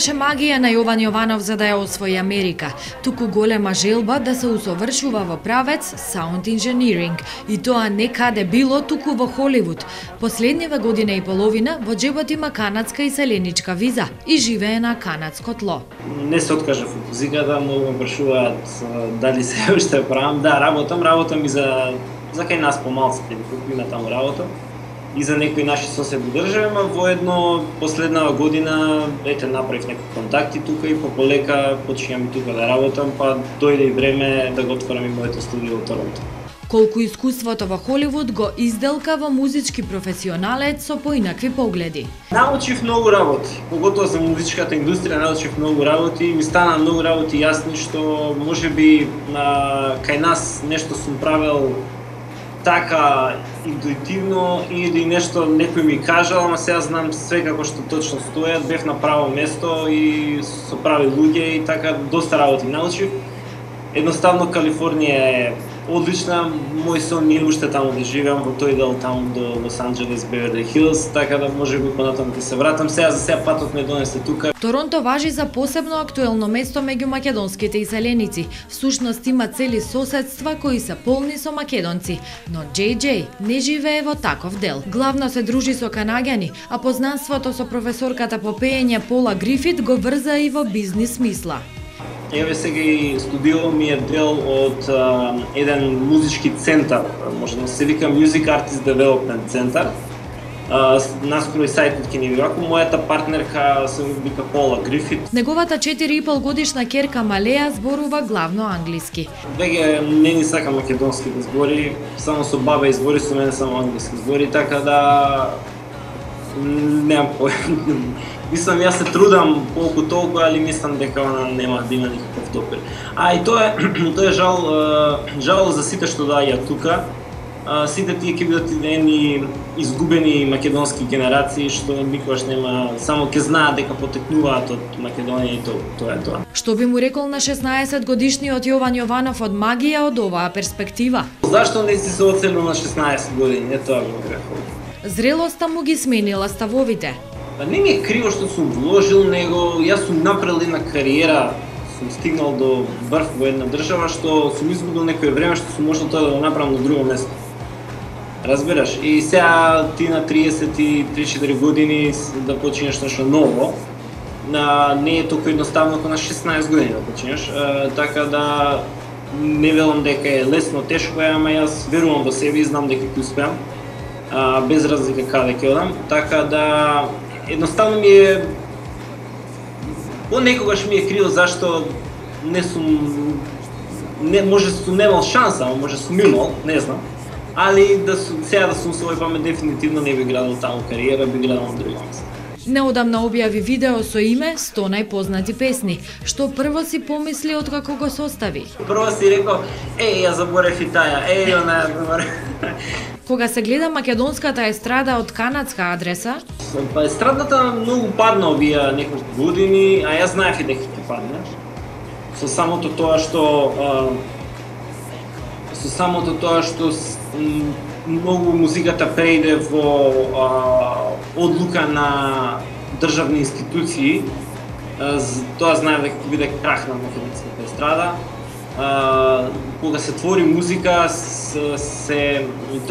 немаше магија на Јован Јованов за да ја освои Америка, туку голема желба да се усовршува во правец Sound Engineering, и тоа не каде било, туку во Холивуд. Последнива година и половина во джебот има канадска иселеничка виза и живее на канадско тло. Не се откажав од музиката, многу ме прашуваат дали се уште правам. Да, работам и за кај нас помалците, колку има таму работа. И за некои наши соседни држави, ама воедно последнава година направив некои контакти тука и полека почнувам и тука да работам, па дојде и време да го отворам и моето студио во Торонто. Колку искуството во Холивуд го изделка во музички професионалец со поинакви погледи. Научив многу работи, поготоа за музичката индустрија научив многу работи, ми стана многу работи јасни што можеби кај нас нешто сум правел така интуитивно или нешто некој ми кажал, ама сега знам све како што точно стојат, бев на право место и со прави луѓе и така доста работи научив. Едноставно Калифорнија е одлична, мој сон е уште таму да живеам во тој дел таму до Лос Анџелес, Беверли Хилс, така да можеби понатаму ќе се вратам. Сега патот ме донесе тука. Торонто важи за посебно актуелно место меѓу македонските иселеници. Всушност има цели соседства кои се полни со македонци, но JJ не живее во таков дел. Главно се дружи со канаѓани, а познанството со професорката по пеење Пола Грифит го врза и во бизнис смисла. Еве сега и студио ми е дел од еден музички центар, може да се вика Music Artist Development Center. Наскоро и сајтот ќе ни ви ваку, мојата партнерка се вика Пола Грифит. Неговата 4,5 годишна керка Малеја зборува главно англиски. Веќе не ни сака македонски да збори, само со баба избори, со мене само англиски збори, така да немам појма. Мислам, јас се трудам колку толку, али мислам дека она нема да има никаков допир. И тоа е жал за сите што доаѓаат тука. Сите тие ќе бидат едни изгубени македонски генерации што никогаш нема, само ќе знаат дека потекнуваат од Македонија и тоа е тоа. Што би му рекол на 16 годишниот Јован Јованов од магија од оваа перспектива? Зашто не си се оцелил на 16 години? Не тоа би му рекол. Зрелоста му ги сменила ставовите. Не ми е криво што сум вложил него, јас сум направил една кариера, сум стигнал до врв во една држава што сум изгубил некое време што сум можел тоа да го направам на друго место. Разбираш? И сега ти на 33-4 години да починеш нешто ново, не е толку едноставно како на 16 години да починеш, така да не велам дека е лесно, тешко е, ама јас верувам во себе и знам дека ќе успеам, без разлика каде ќе одам, така да едноставно ми е понекогаш ми е криво зашто не сум може сум немал шанса, а може сум имал, не знам. Али сега да сум свој памет дефинитивно не би градил таму кариера, би градил на друго место. Неодамна објави видео со име 100 најпознати песни, што прво си помисли откако го состави. Прво си рекол, ја заборев и таа, она ја заборев. Кога се гледа македонската естрада од канадска адреса? Па естрадата многу падна овие неколку години, а јас знаев и дека ќе падне. Со самото тоа што многу музиката преиде во одлука на државни институции, тоа знаев дека ќе биде крах на македонската естрада. Кога се твори музика, тоа е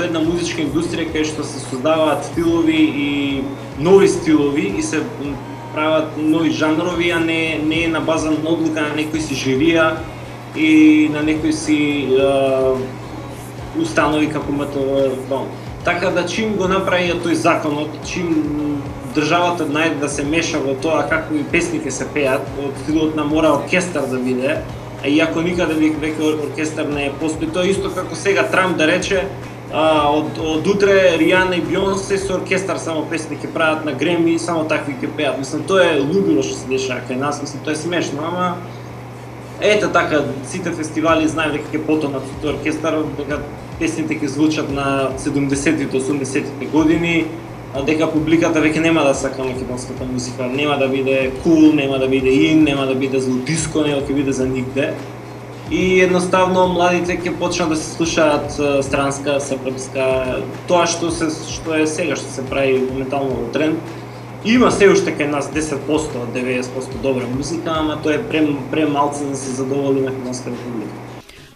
една музичка индустрија кај што се создаваат стилови и нови стилови и се прават нови жанрови, а не на база на одлука на некои си жирија и на некои си установи како МТВ. Така да чим го направија тој законот, чим државата најде да се меша во тоа какви песни ќе се пеат, од стилот на мора оркестар да биде, иако никаде веќе оркестар не е постои, тоа исто како сега Трамп да рече, од утре Ријана и Бионсе со оркестар само песни ќе прават на Греми, само такви ќе пеат. Мислам, тоа е лудило што се дешава кај нас, мислам, тоа е смешно, ама ете така, сите фестивали знаев дека ќе потонат со тој оркестар, дека песните ќе звучат на 70-тите, 80-тите години, дека публиката веќе нема да сака македонската музика, нема да биде кул, нема да биде ин, нема да биде злодиско, нема ќе биде за нигде. И едноставно младите ќе почнат да се слушаат странска, српска, тоа што е сега, што се прави моментално во тренд. Има се уште кај нас 10%, 90% добра музика, ама тоа е премалце да се задоволи македонска република.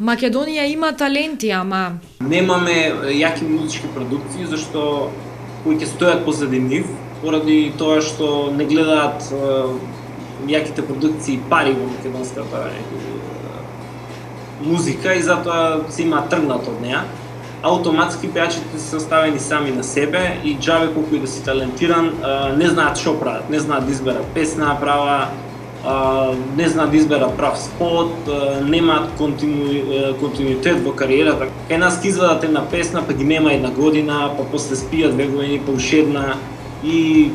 Македонија има таленти, ама немаме јаки музички продукции зашто кои ќе стојат позади нив, поради тоа што не гледаат јаките продукции пари во македонската музика и затоа се има тргнат од неа. Автоматски пејачите се оставени сами на себе и џабе колку и да си талентиран, не знаат што прават, не знаат да изберат песна права, не знаат да изберат прав спот, немаат континуитет во кариерата. Кај нас ќе извадат една песна, па ги нема една година, па после спијат 2 години, па уште една и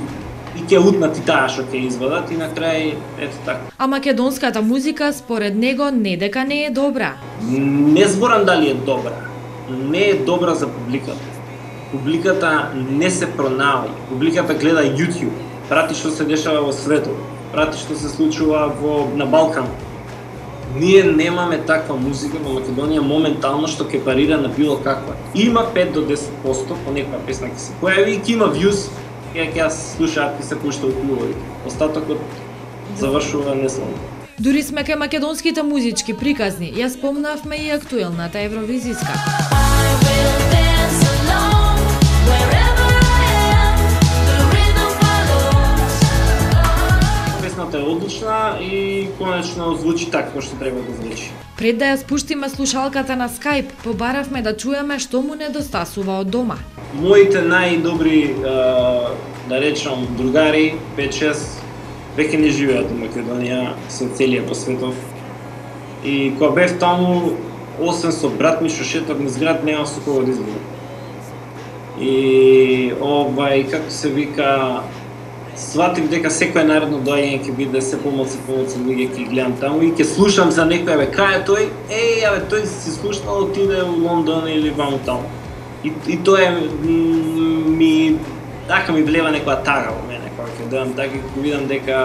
ќе утнат и таа што ќе извадат и на крај ето така. А македонската музика според него не дека не е добра. Не зборам дали е добра. Не е добра за публиката. Публиката не се пронаоѓа. Публиката гледа YouTube, прати што се дешава во светот, прати што се случува на Балкан. Ние немаме таква музика во Македонија моментално што ќе парира на било каква. Има 5 до 10% по некоја песна ќе се појави и ќе има views, ќе слушаат и се пушта у клубови. Остатокот завршува неславно. Дури сме кај македонските музички приказни, ја спомнавме и актуелната евровизиска. Песната е одлична и конечно звучи така што треба да звучи. Пред да ја спуштиме слушалката на Skype, побаравме да чуеме што му недостасува од дома. Моите најдобри, да речам, другари, 5-6, веќе не живеат во Македонија, се целија по светов. И кога бев таму, освен со брат ми што шетав низ град, нема со кого да излезам. И како се вика, сватив дека секој наредно доаѓање ќе биде се помалку луѓе ќе гледам таму и ќе слушам за некој, кај е тој? Тој си слушнал, отиде у Лондон или ваму таму. И тоа ми влева некоја тага во мене, кога ќе дојам така и ќе видам дека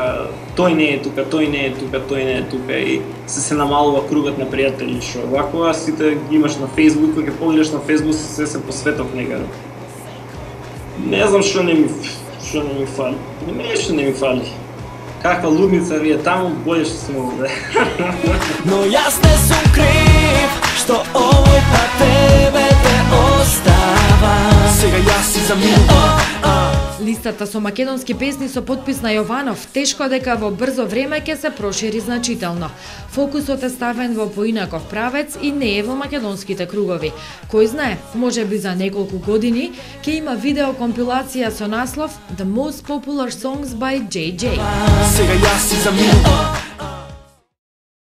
тој не е тука, тој не е тука, тој не е тука и се намалува кругот на пријатели што вако сите ги имаш на Facebook, кога ќе погледаш на Facebook се посветов некаде. Не знам што не ми фали. Нешто не ми фали. Каква лудница ви е таму, боле што сме овде. Но јас не сум крив што овој пат тебе те остава. Сега јас си заминувам. Листата со македонски песни со подпис на Јованов тешко дека во брзо време ќе се прошири значително. Фокусот е ставен во поинаков правец и не е во македонските кругови. Кој знае, можеби за неколку години ќе има видеокомпилација со наслов The Most Popular Songs by JJ. Сега јас си заминувам.